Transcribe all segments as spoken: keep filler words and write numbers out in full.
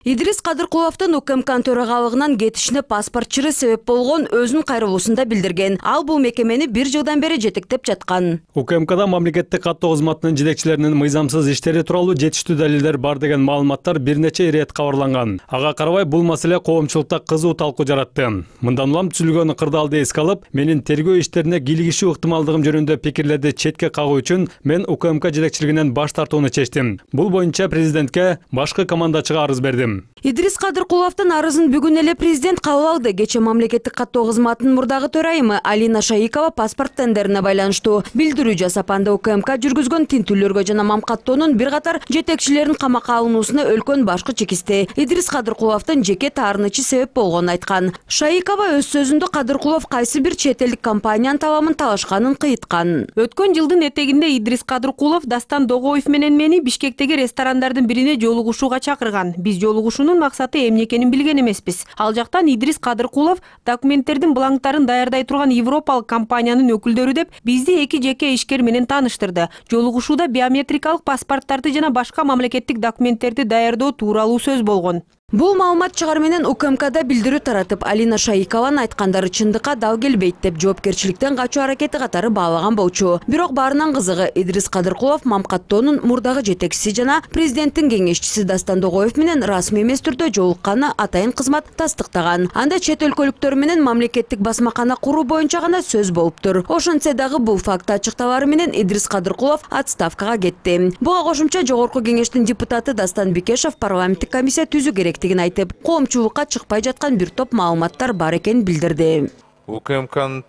Идрис Кадыркуловдун УКМКнын төрагалыгынан кетишине паспортчыры себеп болгон өзүнүн кайрылуусунда билдирген. Ал бул мекемени бир жылдан бери жетектеп жаткан. УКМКда мамлекеттик каттоо кызматынын жетекчилеринин мыйзамсыз иштери тууралуу жетиштүү далилдер бар деген маалыматтар бир нече ирет кабарланган. Ага карабай бул маселе коомчулукта кызуу талкуу жаратты. Мындан улам түзүлгөн кырдаалды эске алып, менин тергөө иштерине кийлигишүү ыктымалдыгым жөнүндө пикирлерди четке кагуу үчүн мен УКМК жетекчилигинен баш тартууну чечтим. Бул боюнча президентке башкы командачыга арыз бердим. Идрис Кадыркуловдун арызын бүгүн эле президент кабыл алды. Кече мамлекеттик каттоо кызматынын мурдагы төрайымы Алина Шаикова паспорт тендерине байланыштуу билдирүү жасап, анда УКМК жүргүзгөн тинтүүлөргө жана мамкаттоонун бир катар жетекчилеринин камакка алынуусуна өлкөн башкы чекисти. Идрис Кадыркуловдун жеке таарынычы себеп болгонун айткан. Шаикова өз сөзүндө Кадыркулов кайсы бир чет элдик компаниянын табамын талашканын кыйткан. Өткөн жылдын этегинде Идрис Кадыркулов Дастан Догоев менен мени Бишкектеги ресторандардын бирине жолугушууга чакырган. Биз жолугушуунун максаты эмне экенин билген эмеспиз. Ал жактан Идрис Кадыркулов документтердин бланктарын даярдай турган европалык компаниянын өкүлдөрү деп бизди эки жеке ишкер менен тааныштырды. Жолугушууда биометрикалык паспорттарды жана башка мамлекеттик документтерди даярдоо тууралуу сөз болгон. Бул маалымат чыгар менен УКМКда билдирүү таратып, Алина Шаикованын айткандары чындыкка дал келбейт деп жоопкерчиликтен качуу аракети катары баалаган болчу. Бирок баарынан кызыгы Идрис Кадыркулов мамкаттоонун мурдагы жетекчиси жана президенттин кеңешчиси Дастан Догоев менен расмий эмес түрдө жолукканы атайын кызмат тастыктаган. Анда чет өлкөлүктөр менен мамлекеттик басмакана куруу боюнча гана сөз болуптур. Ошентсе дагы бул факт ачыкталары менен Идрис Кадыркулов отставкага кетти. Буга кошумча жогорку кеңештин депутаты Дастан Бекешев парламенттик комиссия түзүү керек айтып, коомчулукка чыкпай жаткан бир топ маалыматтар бар экенин билдирди. УКМКнын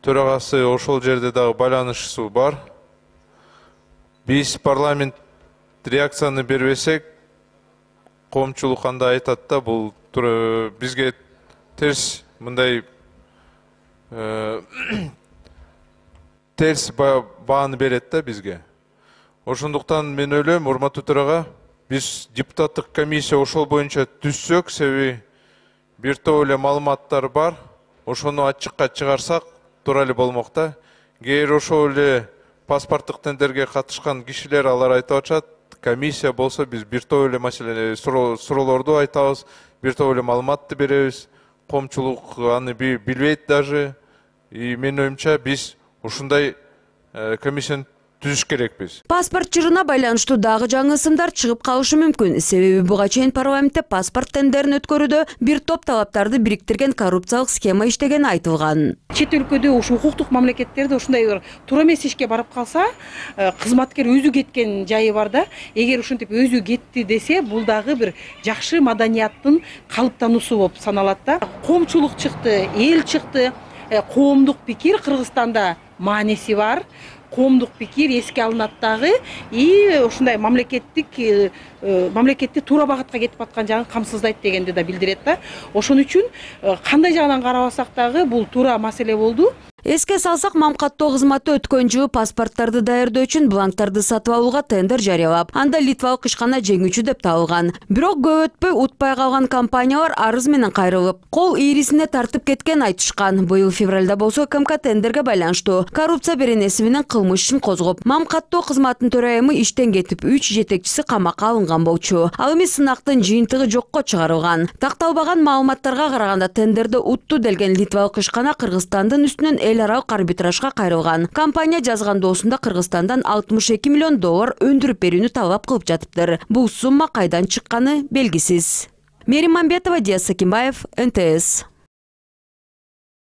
төрагасы ошол жерде дагы байланышчысы бар. Биз парламент реакцияны бербесек, коомчулук кандай айтат да, бул бизге терс мындай терс бааны берет да бизге. Ошондуктан мен ойлойм, урматтуу төрага, биз депутаттык комиссия ошол боюнча түзсөк, себеби бир топ эле маалыматтар бар, ошону ачыкка чыгарсак туура эле болмок да. Эгер ошол эле паспорттук тендерге катышкан кишилер алар айтып атышат, комиссия болсо биз бир топ эле маселе суроолорду айтабыз, бир топ эле маалыматты беребиз, коомчулук аны билбейт даже. И менин оюмча биз ушундай комиссияны түзүш керекпиз. Паспорт жырына байланыштуу дагы жаңы ысымдар чыгып калышы мүмкүн. Себеби буга чейин парламентте паспорт тендерин өткөрүүдө бир топ талаптарды бириктирген коррупциялык схема иштегени айтылган. Чет өлкөдө ушу укуктук мамлекеттерде ушундай бир туура эмес ишке барып калса, кызматкер өзү кеткен жайы бар да. Эгер ушинтип өзү кетти десе, бул дагы бир жакшы маданияттын калыптануусу болуп саналат да. Коомчулук чыкты, эл чыкты. Коомдук пикир Кыргызстанда мааниси бар. Коомдук пикир эске алынат дагы, и ушундай мамлекеттик мамлекетти туура багытка кетип аткан жагын камсыздайт дегенди да билдирет да. Ошон үчүн кандай жагынан карабасак дагы бул туура маселе болду. Эске салсак, мамкаттоо кызматы өткөн жылы паспорттарды даярдоо үчүн бланктарды сатып алууга тендер жарыялап, анда литвалык ишкана жеңүүчү деп табылган. Бирок көп өтпөй утпай калган компаниялар арыз менен кайрылып, кол ийрисине тартып кеткен айтышкан. Быйыл февралда болсо УКМК тендерге байланыштуу коррупция беренеси менен кылмыш ишин козгоп, мамкаттоо кызматынын төрайымы иштен кетип, үч жетекчиси камакка алынган болчу. Ал эми сынактын жыйынтыгы жокко чыгарылган. Такталбаган маалыматтарга караганда тендерди утту делген литвалык ишкана Кыргызстандын үстүнөн эл аралык арбитражга кайрылган. Компания жазган доосунда Кыргызстандан алтымыш эки миллион доллар өндүрүп берүүнү талап кылып жатыптыр. Бул сумма кайдан чыкканы белгисиз. Мерим Мамбетова, Диас Сакимбаев, эн тэ эс.